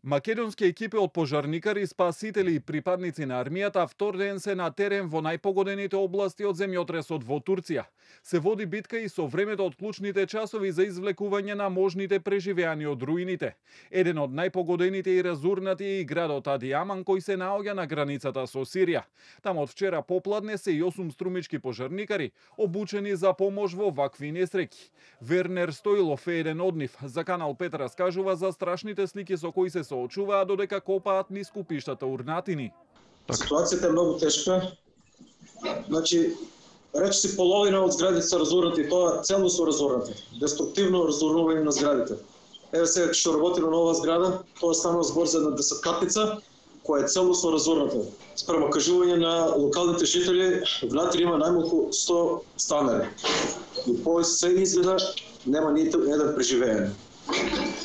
Македонски екипи од пожарникари, спасители и припадници на армијата втор ден се на терен во најпогодените области од земјотресот во Турција. Се води битка и со времето од клучните часови за извлекување на можните преживеани од руините. Еден од најпогодените и разурнати е и градот Адиаман, кој се наоѓа на границата со Сирија. Таму од вчера попладне се и 8 струмички пожарникари, обучени за помош во вакви несреќи. Вернер Стоилов е еден од нив. За Канал 5 раскажува за страшните слики со кои се соочуваа додека копаат низ купиштата урнатини. Ситуацијата е многу тешка. Значи, речиси половина од зградите се разурнати, тоа целосно разурнати. Деструктивно разурнување на зградите. Еве сега што работи на нова зграда, тоа станува збор за една десеткатница која е целосно разурната. Спрема кажување на локалните жители, внатре има најмалку 100 станари. И по се изгледа нема ниту еден преживеен.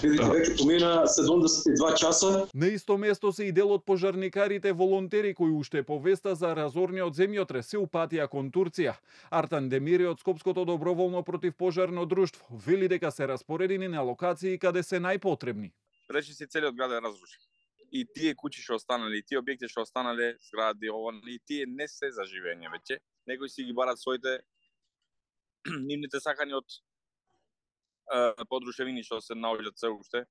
Видите, веќе помина 72 часа. На исто место се и дел од пожарникарите волонтери кои уште по веста за разорниот земјотрес се упатија кон Турција. Артан Демири од Скопското доброволно противпожарно друштво вели дека се распоредени на локации каде се најпотребни. Речиси целиот град е разрушен. И тие куќи што останале, и тие објекти што останале, згради, и тие не се за живење веќе. Некои си ги барат своите нивните сакани од подрушевини што се наоѓаат се уште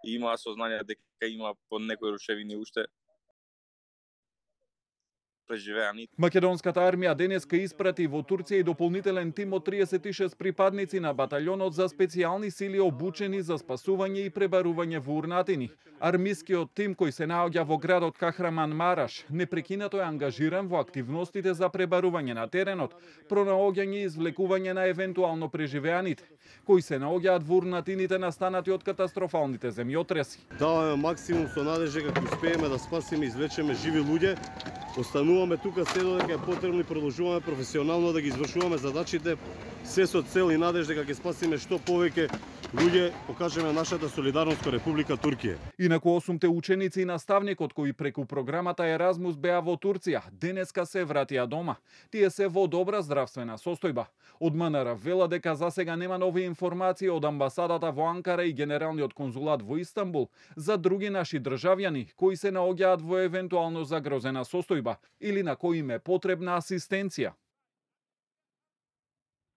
и има сознание дека има по некои рушевини уште преживеани. Македонската армија денеска испрати во Турција и дополнителен тим од 36 припадници на баталјонот за специјални сили обучени за спасување и пребарување во урнатини. Армискиот тим кој се наоѓа во градот Кахраман Мараш непрекинато е ангажиран во активностите за пребарување на теренот, пронаоѓање и извлекување на евентуално преживеаните, кои се наоѓаат во урнатините настанати од катастрофалните земјотреси. Даваме максимум со надежда дека успееме да спасиме и извлечеме живи луѓе. Остануваме тука се додека е потребно и продолжуваме професионално да ги извршуваме задачите, се со цел и надежда дека ќе спасиме што повеќе луѓе, покажеме нашата солидарност кон Република Турција. Инаку 8 ученици и наставникот кои преку програмата Еразмус беа во Турција, денеска се вратија дома. Тие се во добра здравствена состојба. Од МНР вела дека засега нема нови информации од амбасадата во Анкара и Генералниот конзулат во Истанбул за други наши државјани кои се наоѓаат во евентуално загрозена состојба или на кои им е потребна асистенција.